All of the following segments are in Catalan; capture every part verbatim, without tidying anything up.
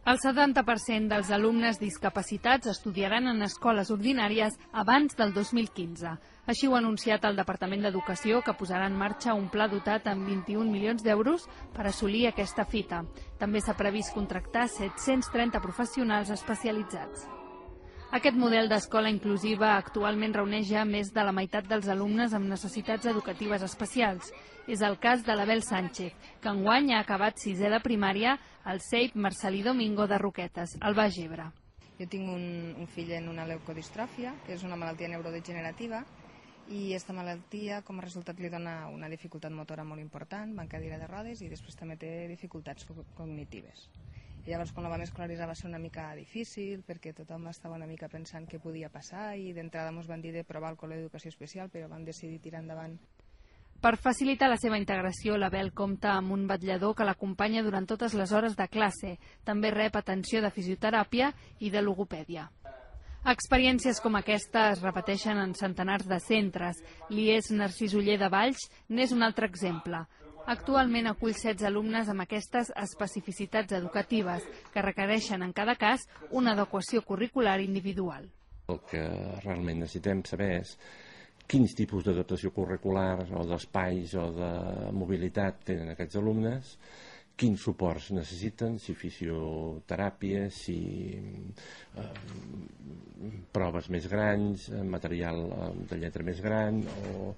El setanta per cent dels alumnes discapacitats estudiaran en escoles ordinàries abans del dos mil quinze. Així ho ha anunciat el Departament d'Educació, que posarà en marxa un pla dotat amb vint-i-un milions d'euros per assolir aquesta fita. També s'ha previst contractar set-cents trenta professionals especialitzats. Aquest model d'escola inclusiva actualment reuneix ja més de la meitat dels alumnes amb necessitats educatives especials. És el cas de l'Abel Sánchez, que enguany ha acabat sisè de primària al C E I P Marcelí Domingo de Roquetes, al Baix Ebre. Jo tinc un, un fill en una leucodistròfia, que és una malaltia neurodegenerativa, i aquesta malaltia com a resultat li dona una dificultat motora molt important, va en cadira de rodes i després també té dificultats cognitives. I llavors, quan la vam escolaritzar va ser una mica difícil perquè tothom estava una mica pensant què podia passar i d'entrada ens van dir de provar el col·le d'educació especial, però vam decidir tirar endavant. Per facilitar la seva integració, l'Abel compta amb un vetllador que l'acompanya durant totes les hores de classe. També rep atenció de fisioteràpia i de logopèdia. Experiències com aquesta es repeteixen en centenars de centres. L'I E S Narcís Oller de Valls n'és un altre exemple. Actualment acull setze alumnes amb aquestes especificitats educatives que requereixen en cada cas una adequació curricular individual. El que realment necessitem saber és quins tipus d'adaptació curricular o d'espais o de mobilitat tenen aquests alumnes, quins suports necessiten, si fisioteràpia, si eh, proves més grans, material de lletra més gran o,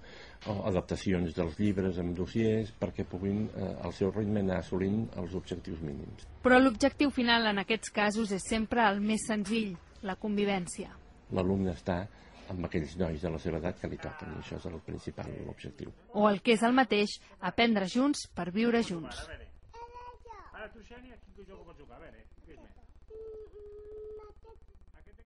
o adaptacions dels llibres amb dossiers perquè puguin eh, al seu ritme anar assolint els objectius mínims. Però l'objectiu final en aquests casos és sempre el més senzill, la convivència. L'alumne està amb aquells nois de la seva edat que li toquen, i això és el principal objectiu. O el que és el mateix, aprendre junts per viure junts. Ara tu, Xènia, quin joc pots jugar? A veure, què és més?